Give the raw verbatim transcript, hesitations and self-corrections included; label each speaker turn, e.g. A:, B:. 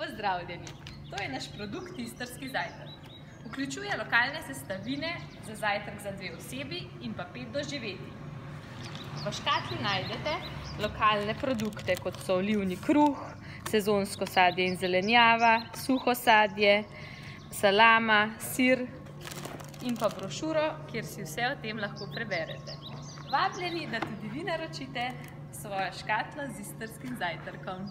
A: Pozdravljeni! To je naš produkt Istrski zajtrk. Vključuje lokalne sestavine za zajtrk za dve osebi in pa pet doživetij. V škatli najdete lokalne produkte, kot so olivni kruh, sezonsko sadje in zelenjava, suho sadje, salama, sir in pa brošuro, kjer si vse o tem lahko preberete. Vabljeni, da tudi vi naročite svojo škatlo z istrskim zajtrkom.